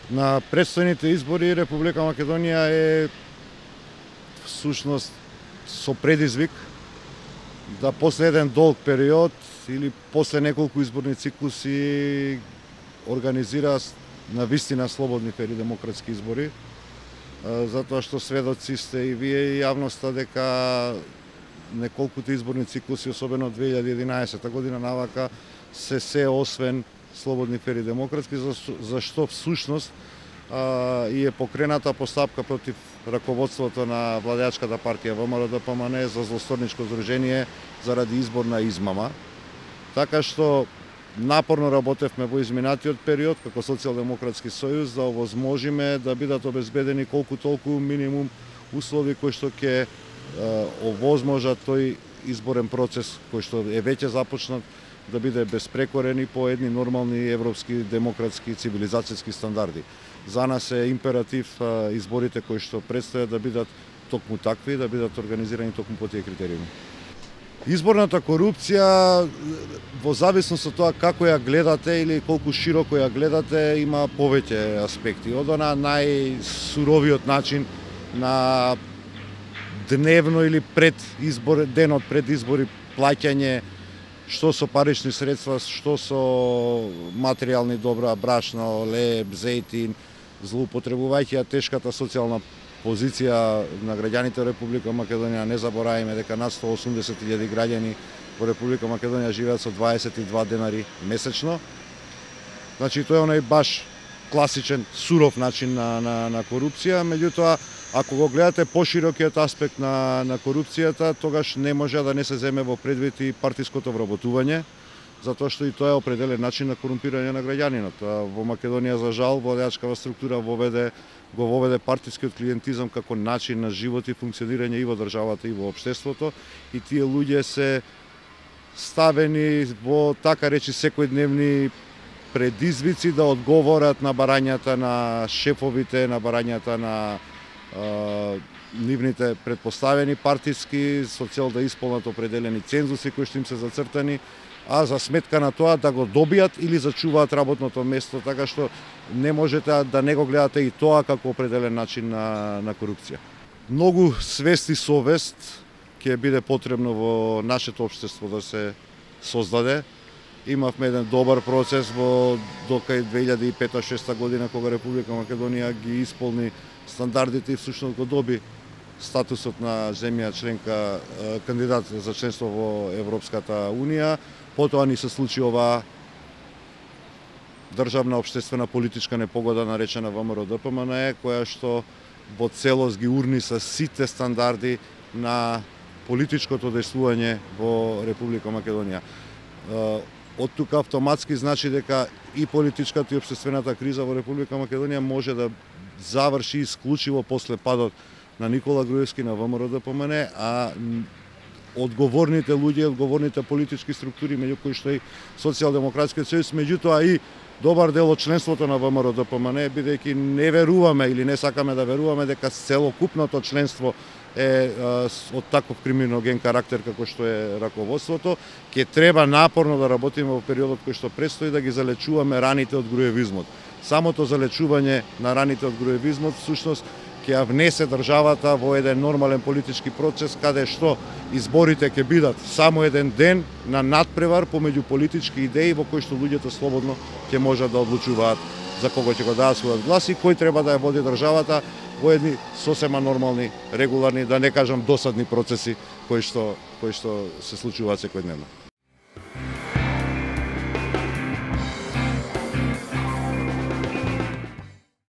На предстојните избори Република Македонија е всушност со предизвик да после еден долг период или после неколку изборни циклуси организира навистина слободни фери демократски избори, затоа што сведоци сте и вие и јавноста дека неколкуте изборни циклуси, особено 2011 година навака, се освен слободни фери демократски, зашто всушност и е покрената постапка против раководството на владеачката партија ВМРО-ДПМН за злосторничко здружение заради изборна измама. Така што напорно работевме во изминатиот период како Социјалдемократски сојуз да овозможиме да бидат обезбедени колку толку минимум услови кои што ќе овозможат тој изборен процес кој што е веќе започнат да биде безпрекорен и по едни нормални европски, демократски, цивилизацијски стандарди. За нас е императив изборите кои што предстојат да бидат токму такви, да бидат организирани токму по тие критериуми. Изборната корупција, во зависност од тоа како ја гледате или колку широко ја гледате, има повеќе аспекти. Од она најсуровиот начин на дневно или денот пред избори плаќање, што со парични средства, што со материјални добра, брашно, леб, зејтин, злоупотребувајќи ја тешката социјална позиција на граѓаните во Република Македонија. Не забораваме дека над 180.000 граѓани во Република Македонија живеат со 22 денари месечно. Значи, тоа е онај баш класичен, суров начин на корупција, меѓутоа, ако го гледате поширокиот аспект на корупцијата, тогаш не може да не се земе во предвид и партиското вработување, затоа што и тоа е определен начин на корумпирање на граѓанинот. Во Македонија, за жал, владеачкава структура го воведе партискиот клиентизам како начин на живот и функционирање и во државата и во општеството, и тие луѓе се ставени во така речи секојдневни предизвици да одговорат на барањата на шефовите, на барањата на нивните предпоставени партиски, со цел да исполнат определени цензуси кои што им се зацртани, а за сметка на тоа да го добијат или зачуваат работното место, така што не можете да не го гледате и тоа како определен начин на корупција. Многу свест и совест ќе биде потребно во нашето општество да се создаде. Имавме еден добар процес до кај 2005-2006 година, кога Република Македонија ги исполни стандардите и всушност го доби статусот на земја членка, кандидат за членство во Европската Унија. Потоа ни се случи оваа државна општествена политичка непогода наречена ВМРО-ДПМН, која што во целост ги урни со сите стандарди на политичкото дејствување во Република Македонија. Од тука автоматски значи дека и политичката и општествената криза во Република Македонија може да заврши исклучиво после падот на Никола Груевски на ВМРО-ДПМН, а одговорните луѓе, одговорните политички структури, меѓу кои што и Социјалдемократскиот сојуз, меѓутоа и добар дел од членството на ВМРО-ДПМН, бидејќи не веруваме или не сакаме да веруваме дека целокупното членство е од таков криминоген карактер како што е раководството, ќе треба напорно да работиме во периодот кој што предстои да ги залечуваме раните од груевизмот. Самото залечување на раните од груевизмот всушност ќе ја внесе државата во еден нормален политички процес, каде што изборите ќе бидат само еден ден на надпревар помеѓу политички идеи во кои што луѓето слободно ќе можат да одлучуваат за кого ќе го дадат својот глас и кој треба да ја води државата во едни сосема нормални, регуларни, да не кажам досадни процеси кои што се случуваат секојдневно.